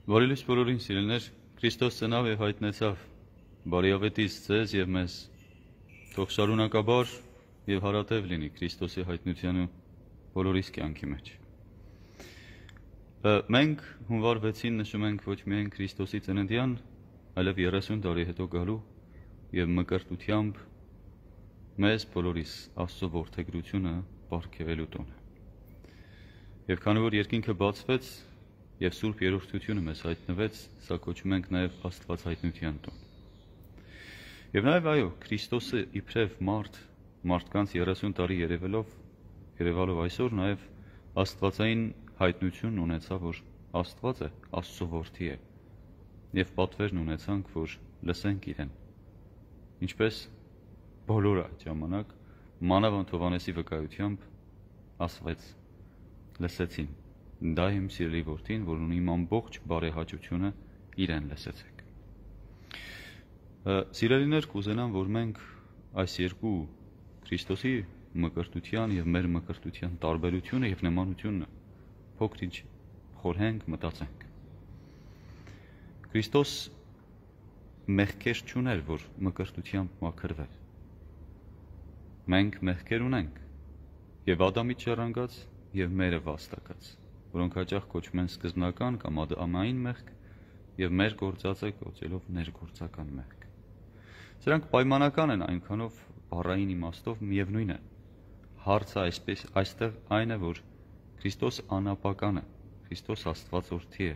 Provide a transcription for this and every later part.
Բարի լույս բոլորին սիրելիներ, Քրիստոս ծնավ եւ հայտնեցավ բարիավետից ձեզ եւ մեզ։ Թող շարունակաբար եւ հարատև լինի Քրիստոսի հայտնությանը բոլորիս կյանքի մեջ։ Մենք հունվար 6-ին նշում ենք ոչ միայն Քրիստոսի ծննդյան, այլև 30 տարի հետո գալու եւ մկրտությամբ մեզ բոլորիս Աստծո որդեգրությունը պարգևելու տոնը։ Եվ քանի որ երկինքը բացվեց եւ Սուրբ Երրորդությունը մեզ հայտնվեց, սա կոչում ենք նաեւ Աստված հայտնության տոն։ Եվ նաեւ այո, Քրիստոսը իբրև մարդկանց 30 տարի երևալով այսօր նաեւ Աստվածային հայտնություն ունեցավ, որ Աստված է, Աստծո որդի է, եւ պատվերն ունեցանք, որ լսենք իրեն։ Ինչպես բոլորը այդ ժամանակ մանավանդ Հովհաննեսի վկայությամբ ասվեց, լսեցին, դա իմ սիրելի որդին, որ ունի իմ ամբողջ բարեհաճությունը, իրեն լսեցեք։ Սիրելիներ, կուզենամ, որ մենք այս երկու Քրիստոսի մկրտության եւ մեր մկրտության տարբերությունը եւ նմանությունը փոքր-ինչ խորհենք, մտածենք։ Քրիստոս մեղքեր չուներ, որ մկրտությամբ մաքրվեր։ Մենք մեղքեր ունենք, եւ Ադամից ժառանգած եւ մերը վաստակած, որոնք հաճախ կոչվում են սկզբնական կամ ամային մեղք եւ մեր գործածը կոչելով ներգործական մեղք։ Սրանք պայմանական են այնքանով բառային իմաստով միևնույն է։ Հարցը այստեղ այն է, որ Քրիստոս անապական է, Քրիստոս Աստված որդի է,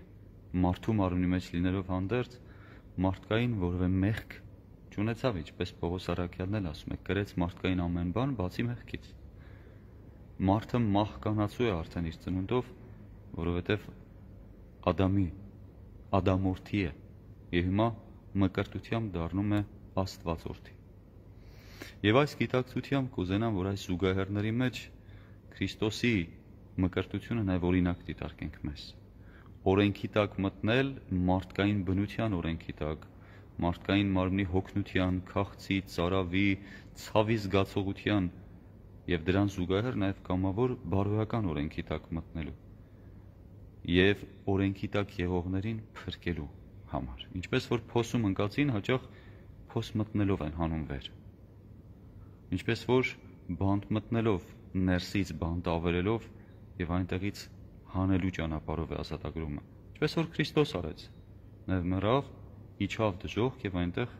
մարդու մարմնի մեջ լինելով հանդերձ մարդկային որևէ մեղք չունեցավ, ինչպես Պողոս առաքյալն էլ ասում է, կրեց մարդկային ամեն բան, բացի մեղքից։ Մարդը մահկանացու է արդեն իր ծնունդով, որովհետև Ադամորդի է, եւ հիմա մկրտությամբ դառնում է Աստվածորդի։ Եվ այս գիտակցությամբ կուզենամ, որ այս զուգահեռների մեջ Քրիստոսի մկրտությունը նաեւ օրինակ դիտարկենք մեզ։ Օրենքի տակ մտնել, մարդկային բնության օրենքի տակ, մարդկային մարմնի հոգնության, քաղցի, ծարավի, ցավի զգացողության եւ դրան զուգահեռ նաեւ կամավոր բարոյական օրենքի տակ մտնելու եւ օրենքի տակ եղողներին փրկելու համար։ Ինչպես որ փոսում ընկածին հաճախ փոս մտնելով են հանում վեր։ Ինչպես որ բանտ մտնելով ներսից բանտ ավերելով եւ այնտեղից հանելու ճանապարհով է ազատագրումը։ Ինչպես որ Քրիստոս արեց։ Նեւ մեռավ, իջավ դժոխք եւ այնտեղ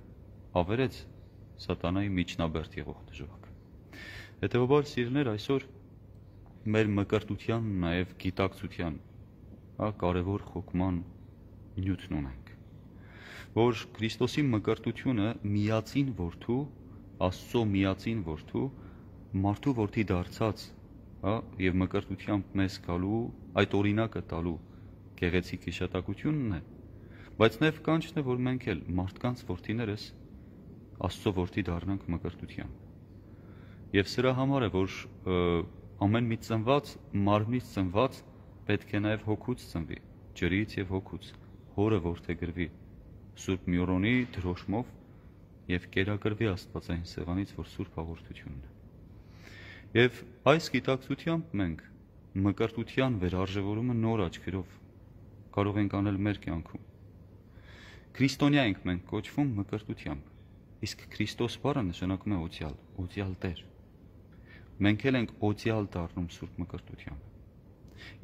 ավերեց սատանայի միջնաբերդ եղող դժոխքը։ Հետեւաբար սիրելիներ, այսօր մեր մկրտության նաեւ գիտակցության կարևոր խոկման նյութն ունենք, որ Քրիստոսի մկրտությունը միածին որդու, Աստծո միածին որդու, մարդու որդի դարձած, եւ մկրտությամբ մեզ գալու, այդ օրինակը տալու գեղեցիկ հիշատակությունն է, բայց նաեւ կանչն է, որ մենք էլ մարդկանց որդիներս Աստծո որդի դառնանք մկրտությամբ։ Եվ սրա համար է, որ ամեն մի ծնված, մարմնից ծնված պետք է նաև հոգուց ծնվի, ջրից եւ հոգուց, հորը որդեգրվի, Սուրբ Մյուրոնի դրոշմով եւ կերակրվի Աստվածային սեղանից, որ Սուրբ հաղորդությունն է։ Եվ այս գիտակցությամբ մենք մկրտության վերարժևորումը նոր աչքերով կարող ենք անել մեր կյանքում։ Քրիստոնյա ենք մենք կոչվում մկրտությամբ, իսկ Քրիստոս բառը նշանակում է օծյալ Տեր։ Մենք էլ ենք օծյալ դառնում Սուրբ մկրտությամբ։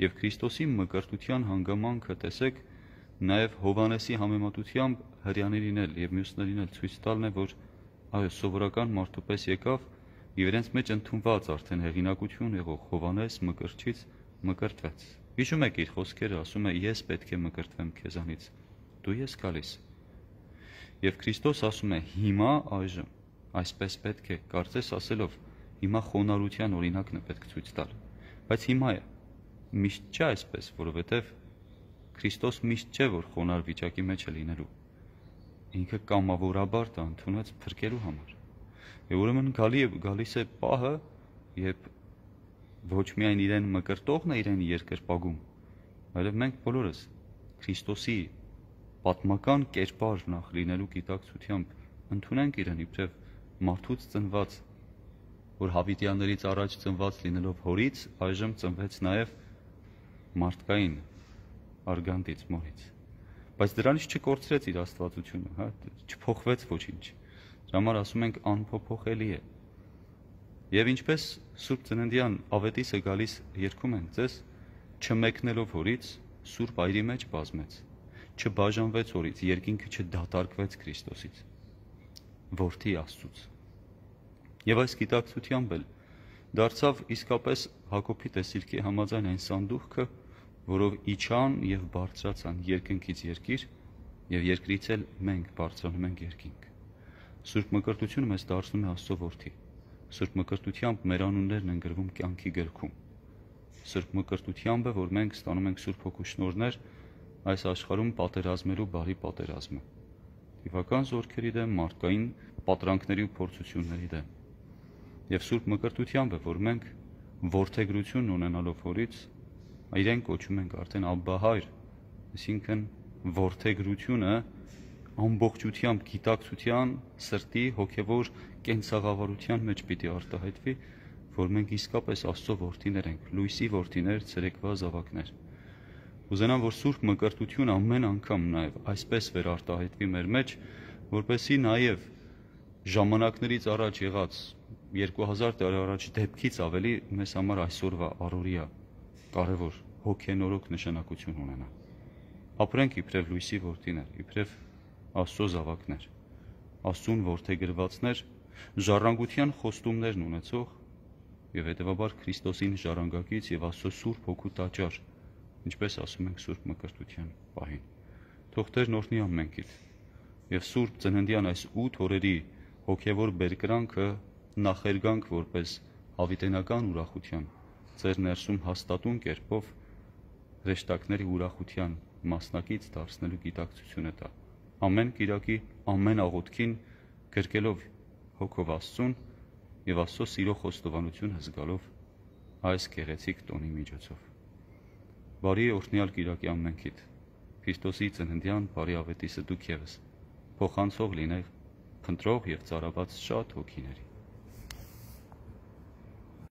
Եվ Քրիստոսի մկրտության հանգամանքը տեսեք նաև Հովհաննեսի համեմատությամբ հրյաներին էլ եւ մյուսներին էլ ցույց տալն է, որ այո, սովորական մարդու պես եկավ եւ իրենց մեջ ընդունված արդեն հեղինակություն եղող Հովհաննես մկրտչից մկրտվեց։ Հիշում եք իր խոսքերը, ասում է. ես պետք է մկրտվեմ քեզանից, դու ես գալիս։ Եվ Քրիստոս ասում է. հիմա այժմ այսպես պետք է, կարծես ասելով, հիմա խոնարհության օրինակն է պետք ցույց տալ, բայց հիմա է միշտ չէ այսպես, որովհետև Քրիստոս միշտ չէ, որ խոնար վիճակի մեջ է լինելու։ Ինքը կամավորաբար դա ընդունեց փրկելու համար։ Եվ ուրեմն գալիս է պահը, երբ ոչ միայն իրեն մկրտողն է իրեն երկրպագում, այլև մենք բոլորս Քրիստոսի պատմական կերպար նախ լինելու գիտակցությամբ ընդունենք իրեն իբրև մարդուց ծնված, որ հավիտյաններից առաջ ծնված լինելով հորից, այժմ ծնվեց նաև մարդկային արգանդից մորից։ բայց դրանից չկորցրեց իր աստվածությունը, հա, չփոխվեց ոչինչ։ Դրա համար ասում ենք անփոփոխելի է։ Եվ ինչպես Սուրբ Ծննդյան ավետիսը գալիս երգում են ձեզ, չմեկնելով հորից, Սուրբ Այրի մեջ բազմեց, չբաժանվեց հորից, երկինքը չդատարկվեց Քրիստոսից, Որդի Աստծուց։ Եվ այս գիտակցությամբ էլ դարձավ իսկապես Հակոբի տեսիլքի համաձայն այն սանդուղքը, որով իջան եւ բարձրացան երկնքից երկիր, եւ երկրից էլ մենք բարձրանում ենք երկինք։ Սուրբ Մկրտությունը մեզ դարձնում է Աստծո որդի։ Սուրբ Մկրտությամբ մեր անուններն են գրվում կյանքի գրքում։ Սուրբ Մկրտությամբ է, որ մենք ստանում ենք Սուրբ Հոգու շնորհներ այս աշխարհում պատերազմելու բարի պատերազմը։ Տիվական զորքերի դեմ, մարդկային պատրանքների ու փորձությունների դեմ։ Եվ Սուրբ Մկրտությամբ է, որ մենք որդեգրություն ունենալով հորից, իրեն կոչում ենք արդեն Աբբա Հայր, այսինքն որդեգրությունը ամբողջությամբ գիտակցության, սրտի, հոգևոր կենցաղավարության մեջ պիտի արտահայտվի, որ մենք իսկապես Աստծո որդիներ ենք, լույսի որդիներ, ցերեկվա զավակներ։ Ուզենամ, որ Սուրբ Մկրտությունը ամեն անգամ նաև այսպես վերարտահայտվի մեր մեջ, որպեսզի նաև ժամանակներից առաջ եղած 2000 տարի առաջ դեպքից ավելի մեզ համար այսօրվա առօրյա կարևոր հոգենորոք նշանակություն ունենա։ Ապրենք իբրև լույսի որդիներ, իբրև Աստծո զավակներ, Աստծուն որդեգրվածներ, ժառանգության խոստումներն ունեցող եւ հետեւաբար Քրիստոսին ժառանգակից եւ Աստծո Սուրբ Հոգու տաճար, ինչպես ասում ենք Սուրբ Մկրտության պահին։ Թող Տերն օրհնի ամենքիդ եւ Սուրբ Ծննդյան այս 8 օրերի հոգևոր բերկրանքը նախերգանք որպես հավիտենական ուրախության ձեր ներսում հաստատուն կերպով հրեշտակների ուրախության մասնակից դարձնելու գիտակցությունը տա։ Ամեն կիրակի, ամեն աղոթքին գրկելով հոգով Աստծուն եւ Աստծո սիրո խոստովանությունը զգալով այս գեղեցիկ տոնի միջոցով։ Բարի օրհնյալ կիրակի ամենքիդ։ Քրիստոսի ծննդյան բարի ավետիսը դուք ևս փոխանցող լինեք, փնտրող եւ ծառաբաց շատ հոգիների։